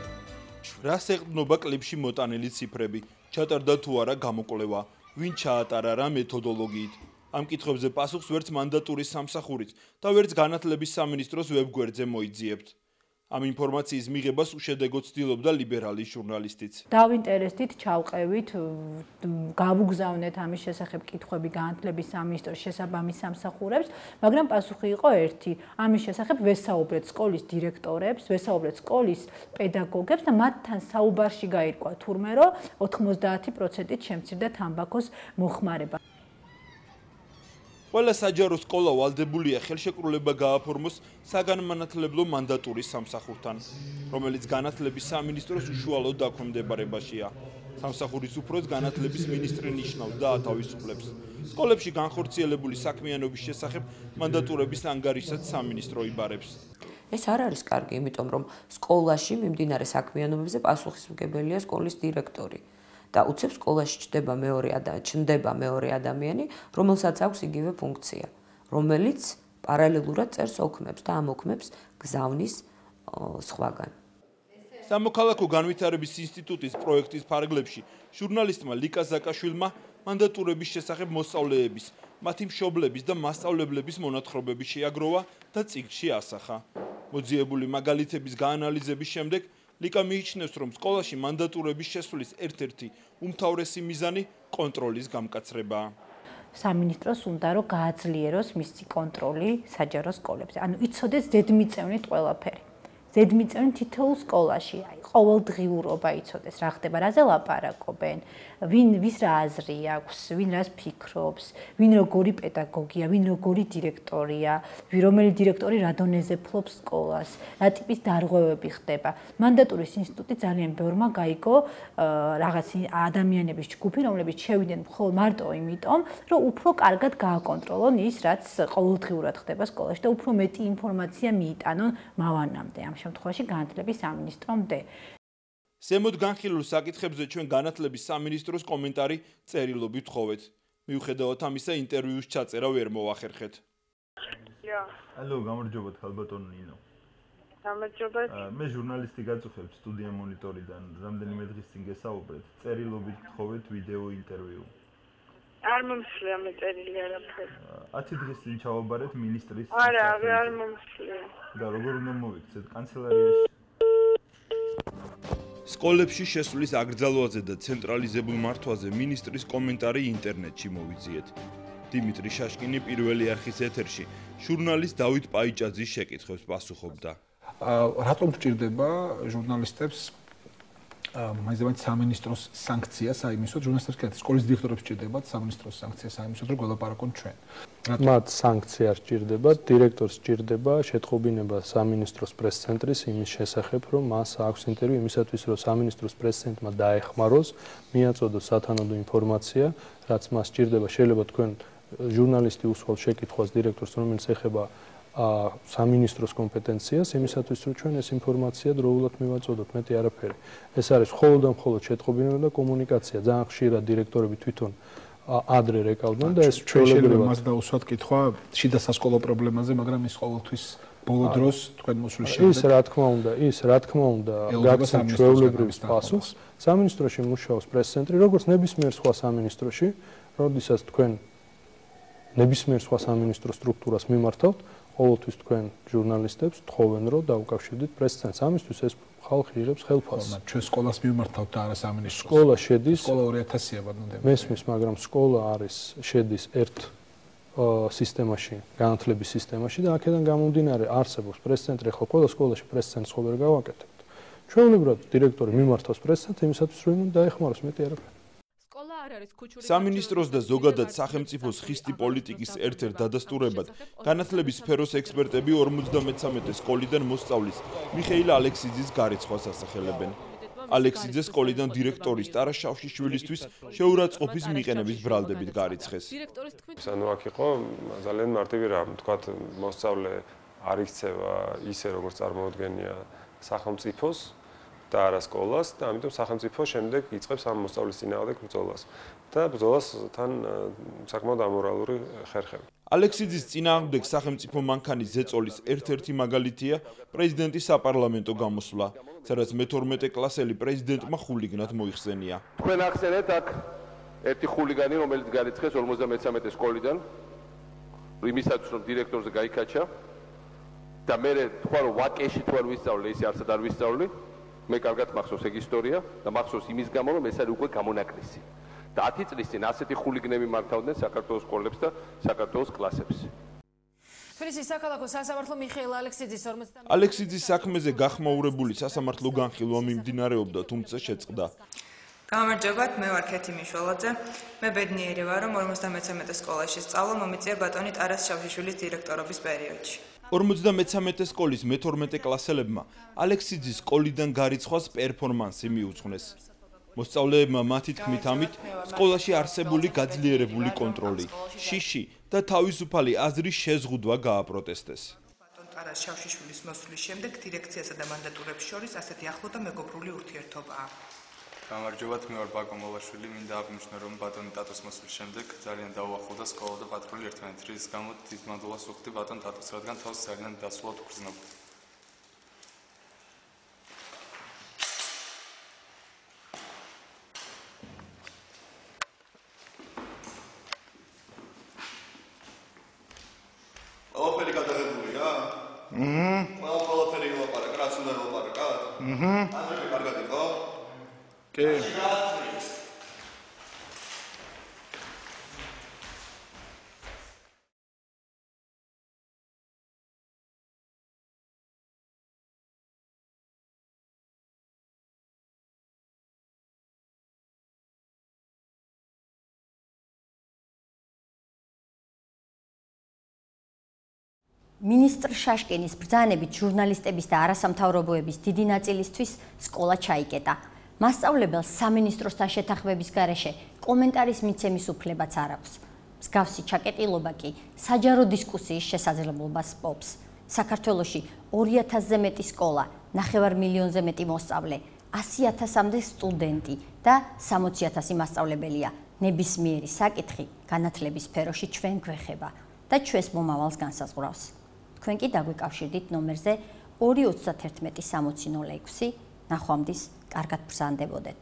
რას ეყრდნობა კლიპში მოტანილი ციფრები? ჩატარდა თუ არა გამოკვლევა? ვინ ჩაატარა რა მეთოდოლოგიით? ამ კითხვებზე პასუხს ვერც მანდატურის სამსახურით და ვერც განათლების სამინისტროს ვებგვერდზე მოიძიებთ. ამ ინფორმაციის მიღებას უშედეგო ცდილობდა ლიბერალი ჟურნალისტიც. დავინტერესდით, ჩავყევით, გავუგზავნეთ ამის შესახებ კითხვები განათლების სამინისტროს შესაბამის სამსახურებს, მაგრამ პასუხი იყო ერთი. ამის შესახებ ვესაუბრეთ სკოლის დირექტორებს, ვესაუბრეთ სკოლის პედაგოგებს და მათთან საუბარში გაირკვა თურმე, რომ 90%-ით შემცირდა თამბაქოს მოხმარება. ყველა საჯარო სკოლა ვალდებულია ხელშეკრულება გააფორმოს საგანმანათლებლო მანდატურის სამსახურთან, რომელიც განათლების სამინისტროს უშუალოდ დაქვემდებარებაშია. სამსახურის უფროს განათლების მინისტრი ნიშნავს და ათავისუფლებს. სკოლებში განხორციელებული საქმიანობის შესახებ მანდატურების ანგარიშსაც სამინისტრო იბარებს. ეს არ არის კარგი, იმიტომ რომ სკოლაში მიმდინარე საქმიანობებზე პასუხისმგებელია სკოლის დირექტორი. და უცებ სკოლაში ჩნდება მეორე ადამიანი, რომელსაც აქვს იგივე ფუნქცია, რომელიც პარალელურად წერს ოქმებს და ამ ოქმებს გზავნის სხვაგან. სამოქალაქო განვითარების ინსტიტუტის პროექტის ფარგლებში ჟურნალისტმა ლიკა ზაკაშვილმა მანდატურების შესახებ მოსწავლეების, მათი მშობლების და მასწავლებლების მონათხრობები შეაგროვა და წიგნში ასახა. მოძიებული მაგალითების გაანალიზების შემდეგ ლიკა მიიჩნევს, რომ სკოლაში მანდატურების შესვლის ერთ-ერთი უმთავრესი მიზანი კონტროლის გამკაცრებაა. სამინისტროს უნდა რომ გააძლიეროს მისი კონტროლი საჯარო სკოლებზე. ანუ იცოდეს ზედმიწევნით ყველაფერი. ზედმიწევნით თითოეულ სკოლაში, ყოველდღიურობა იცოდეს, რა ხდება, რაზე ლაპარაკობენ, ვის რა აზრი აქვს, ვინ რას ფიქრობს, ვინ როგორი პედაგოგია, ვინ როგორი დირექტორია, რომელი დირექტორი რა დონეზე ფლობს სკოლას, რა ტიპის დარღვევები ხდება. მანდატურის ინსტიტუტი ძალიან ბევრმა გაიგო რაღაც ადამიანების ჯგუფი, რომლებიც შევიდნენ მხოლოდ მარტო იმიტომ, რომ უფრო კარგად გააკონტროლონ ის, რაც ყოველდღიურად ხდება სკოლაში და უფრო მეტი ინფორმაცია მიიტანონ მავანამდე. ამ შემთხვევაში განათლების სამინისტრომდე. ზემოთ განხილულ საკითხებზე ჩვენ განათლების სამინისტროს კომენტარი წერილობით ვთხოვეთ. მიუხედავად ამისა, ინტერვიუს ჩაწერა ვერ მოახერხეთ. ალო, გამარჯობათ, ხალბატონო ნინო. გამარჯობათ. მე ჟურნალისტი გაწუხებ სტუდია მონიტორიდან, რამდენიმე დღის წინ გესაუბრეთ, წერილობით ვთხოვეთ ვიდეო ინტერვიუ. არ მომსვლია მე წერილი არაფერი. 10 დღის წინ ჩავაბარეთ მინისტრის. არა, არ მომსვლია. და როგორ უნდა მოვიქცეთ კანცელარიაში? სკოლებში შესვლის აკრძალვაზე და ცენტრალიზებულ მართვაზე მინისტრის კომენტარი ინტერნეტში მოვიძიეთ. დიმიტრი შაშკინი პირველი არხის ეთერში ჟურნალისტ დავით პაიჭაძის შეკითხვებს პასუხობდა. რატომ გჭირდება ჟურნალისტებს მაინც სამინისტროს სანქცია საიმისოდ, ჟურნალისტებს კი სკოლის დირექტორებს სჭირდებათ სამინისტროს სანქცია საიმისოდ, რომ გველაპარაკონ ჩვენ. მათ სანქცია სჭირდებათ, დირექტორს სჭირდება შეტყობინება სამინისტროს პრეს-ცენტრის იმის შესახებ, რომ მას აქვს ინტერვიუ იმისათვის, რომ სამინისტროს პრეს-ცენტრმა დაეხმაროს, მიაწოდოს სათანადო ინფორმაცია, რაც მას სჭირდება. შეიძლება თქვენ ჟურნალისტი უსვამთ შეკითხვას დირექტორს, რომელიც ეხება სამინისტროს კომპეტენციას, იმისათვის, რომ ჩვენ ეს ინფორმაცია დროულად მივაწოდოთ, მეტი არაფერი. ეს არის მხოლოდ და მხოლოდ შეტყობინება და კომუნიკაცია. ძალიან ხშირად დირექტორები თვითონ ადრე რეკავდნენ და ეს ჩვეულებრივად მას დაუსვათ კითხვა შიდა სასკოლო პრობლემაზე, მაგრამ ის ყოველთვის ბოლო დროს თქვენ მოსვლის შემდეგ ის რა თქმა უნდა გაგცემთ ჩვეულებრივ პასუხს. სამინისტროში მუშაობს პრეს-ცენტრი, როგორც ნებისმიერ სხვა სამინისტროში, როდესაც თქვენ ნებისმიერ სხვა სამინისტრო სტრუქტურას მიმართავთ, ყოველთვის თქვენ ჟურნალისტებს თხოვენ, რომ დაუკავშირდით პრეს-ცენტრს. ამისთვის ეს ხალხი იღებს ხელფასს. ჩვენ სკოლას მიმართავთ და არა სამინისტროს. სკოლა შედის სკოლა 2000-ია ბანდები. მესმის, მაგრამ სკოლა შედის ერთ სისტემაში, განათლების სისტემაში და აქედან გამომდინარე არსებობს პრეს-ცენტრი. ხო, ყველა სკოლაში პრეს-ცენტრს ხო ვერ გავაკეთებთ. ჩვეულებრივად დირექტორი მიმართავს პრესად იმისათვის რომ დაეხმაროს მეტი არაფერი. სამინისტროს და ზოგადად სახელმწიფოს ხისტი პოლიტიკის ერთ-ერთ დადასტურებად განათლების სფეროს ექსპერტები 53 სკოლიდან მოსწავლის მიხეილ ალექსიძის გარიცხვას ასახელებენ. ალექსიძე სკოლიდან დირექტორის ტარას შავშიშვილისთვის შეურაცხყოფის მიყენების ბრალდებით გარიცხეს. ანუ აქ იყო ძალიან მარტივი რამ, თქვათ მოსწავლე არ იქცევა ისე როგორც წარმოუდგენია სახელმწიფოს და არა სკოლას და ამიტომ სახელმწიფო შემდეგ იწყებს ამ მოსწავლის წინააღმდეგ ბრძოლას და ბრძოლას თან საკმაოდ ამორალური ხერხები. ალექსიძის წინააღმდეგ სახელმწიფო მანქანის ზეწოლის ერთ-ერთი მაგალითია პრეზიდენტის საპარლამენტო გამოსვლა, სადაც მე-12 კლასელი პრეზიდენტმა ხულიგნად მოიხსენია. თქვენ ახსენეთ აქ ერთი ხულიგანი, რომელიც გარიცხეს 53 სკოლიდან, იმისათვის რომ დირექტორზე გაიქაჩა და მე თქვა რომ ვაკეში თუ არ ვისწავლე, ისე არც არ ვისწავლე. მე კარგად მახსოვს ეგ ისტორია და მახსოვს იმის გამო რომ ეს არის უკვე გამონაკლისი. და 10 წლის წინ ასეთი ხულიგნები მართავდნენ საქართველოს სკოლებს და საქართველოს კლასებს. თბილისის საქალაქო სასამართლო მიხეილ ალექსიძის 50 ალექსიძის საქმეზე გახმაურებული სასამართლო განხილვა მიმდინარეობდა, თუმცა შეწყდა. გამარჯობათ, მე ვარ ქეთი მიშველაძე. მე ბედნიერი ვარ, რომ 53 სკოლაში სწავლა მომიწია ბატონი ტარას შავშიშვილის დირექტორობის პერიოდში. 53 სკოლის მე-12 კლასელებმა ალექსიძის სკოლიდან გარიცხვას პერფორმანსი მიუძღვნეს. მოსწავლეებმა მათი თქმით ამით სკოლაში არსებული გაძლიერებული კონტროლი, შიში და თავისუფალი აზრის შეზღუდვა გააპროტესტეს. ბატონ ტარას შავშიშვილის მოსვლის შემდეგ დირექციასა და მანდატურებს შორის ასეთი ახლო და მეგობრული ურთიერთობაა. გამარჯობათ, მე ვარ ბაკო მოლაშვილი, მინდა აღნიშნო, რომ ბატონი ტატოს მოსვლის შემდეგ ძალიან დაუახლოვდა სკოლა და პატრული ერთმანეთს, რის გამო დიდ მადლობას ვუხდი ბატონ ტატოს, რადგან თავს ძალიან დასულად უგრძნობდა. ყველაფერი გადაღებულია? ყველაფერი ვილაპარაკ, რაც უნდა ვილაპარაკოთ? ანდრე, კარგად იყო? კი. მინისტრ შაშკინის ბრძანებით ჟურნალისტების და არასამთავრობოების დიდი ნაწილისთვის სკოლა ჩაიკეტა. მასწავლებელს სამინისტროსთან შეთანხმების გარეშე კომენტარის მიცემის უფლებაც არ აქვს. მსგავსი ჩაკეტილობა კი საჯარო დისკუსიის შესაძლებლობას პოვს. საქართველოში 2000-ზე მეტი სკოლა, 9 მილიონზე მეტი მოსწავლე, 100.000-მდე სტუდენტი და 60.000 მასწავლებელია. ნებისმიერი საკითხი განათლების სფეროში ჩვენ გვეხება და ჩვენს მომავალს განსაზღვრავს. თქვენ კი დაგვიკავშირდით ნომერზე 231 60 06. ნახვამდის კარგად ბრძანდებოდეთ.